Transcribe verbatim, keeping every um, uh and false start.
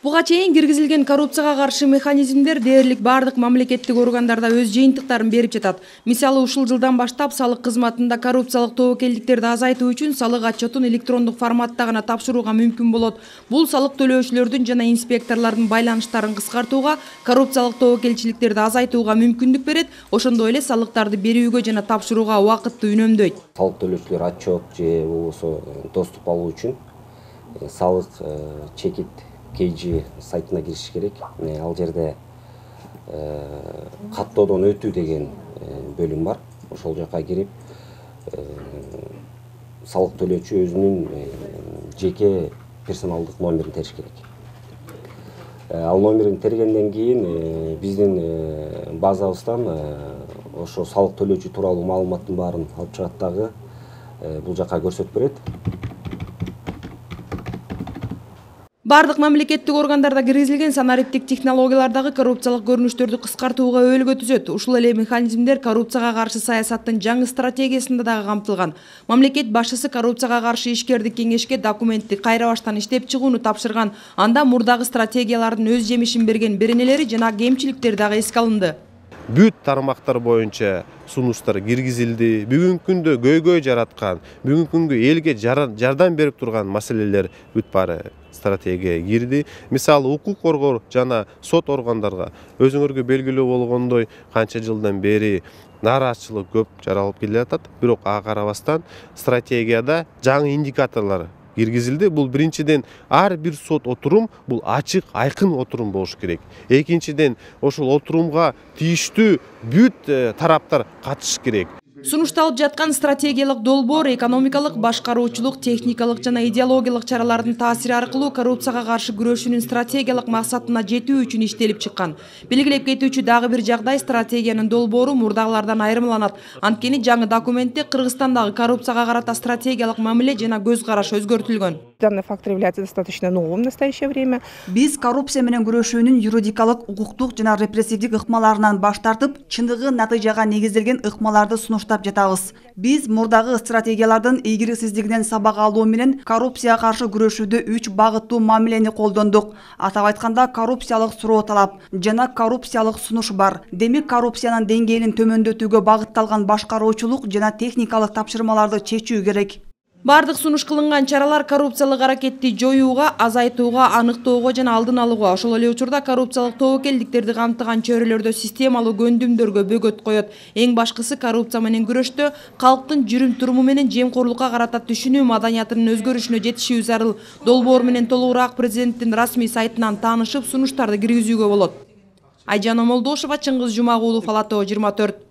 Буга чейин киргизилген коррупцияга каршы механизмдер дээрлик бардык мамлекеттик органдарда өз жыйынтыктарын берип жатат. Мисалы, ушул жылдан баштап салык кызматында коррупциялык тобокелдиктерди азайтуу үчүн салык отчетун электрондук форматта гана тапшырууга мүмкүн болот. Бул салык төлөөчүлөрдүн жана инспекторлордун байланыштарын кыскартууга, коррупциялык тобокелчиликтерди азайтууга мүмкүндүк берет, ошондой эле салыктарды берүүгө жана тапшырууга убакытты үнөмдөйт. Салык төлөөчүлөр отчет же болбосо доступ алуу үчүн салык чекит кей жи сайтына кириш керек. Ал жерде каттоодон өтүү деген бөлүм бар. Ошол жака кирип, салык төлөөчү өзүнүн жеке персоналдык номерин териш керек. Ал номерин тергенден кийин биздин базабыздан ошо салык төлөөчү тууралуу маалыматтын баарын алып чыгат дагы бул жака көрсөтүп берет. Бардык мамлекеттик органдарда киргизилген санариптик технологиялардагы коррупциялык көрүнүштөрдү кыскартууга өөлгө түзөт. Ушул эле механизмдер коррупцияга каршы саясаттын жаңы стратегиясында дагы камтылган. Мамлекет башчысы коррупцияга каршы ишкердик кеңешке документти кайра баштан иштеп чыгууну тапшырган. Анда мурдагы стратегиялардын өз жемишин берген беренелери жана кемчиликтер дагы эске алынды. Бүт тармактар боюнча сунуштар киргизилди. Бүгүнкү күндө көйгөй жараткан, бүгүнкү күнгө элге жардам берип турган маселелер бүт баары стратегияга кирди. Мисалы, укук коргоо жана сот органдарга өзүңөргө белгилүү болгондой канча жылдан бери нааразычылык көп жаралып келе жатат. Бирок ага карабастан стратегияда жаңы индикаторлор киргизилди. Бул биринчиден ар бир сот отурум бул ачык, айкын отурум болуш керек. Экинчиден ошол отурумга тийиштүү бүт тараптар катышыш керек. Сунушталып жаткан стратегиялык долбоор экономикалык, башкаруучулук, техникалык жана идеологиялык чаралардын таасири аркылуу коррупцияга каршы күрөшүүнүн стратегиялык максатына жетүү үчүн иштелип чыккан. Белгилеп кетүүчү дагы бир жагдай стратегиянын долбоору мурдагылардан айырмаланат. Анткени жаңы документте Кыргызстандагы коррупцияга карата стратегиялык мамиле жана көз караш өзгөртүлгөн. Данный фактор является достаточно новым в настоящее время. Биз коррупция менен күрөшүүнүн юридикалык, укуктук жана репрессивдик ыкмаларынан баш тартып, чындыгы натыйжага негизделген ыкмаларды сунуштап жатабыз. Биз мурдагы стратегиялардын ийгиликсиздигинен сабак алуу менен коррупцияга каршы күрөшүүдө үч багыттуу мамилени колдондук. Атап айтканда, коррупциялык суроо талап жана коррупциялык сунуш бар. Демек, коррупциянын деңгээлин төмөндөтүүгө багытталган башкаруучулук жана техникалык тапшырмаларды чечүү керек. Бардык сунуш кылынган чаралар коррупциялык аракетти жоюуга, азайтууга, аныктоого жана алдын алууга, ошол эле учурда коррупциялык тобокелдиктерди камтыган чөйрөлөрдө системалуу көндүмдөргө бөгөт коет. Эң башкысы коррупция менен күрөштө калктын жүрүм-туруму менен жемкорлукка карата түшүнүү маданиятынын өзгөрүшүнө жетишүү зарыл. Долбоор менен толугураак президенттин расмий сайтынан таанышып, сунуштарды киргизүүгө болот. Айжан Омолдошова, Чыңгыз Жумагулов, Ала Тоо жыйырма төрт.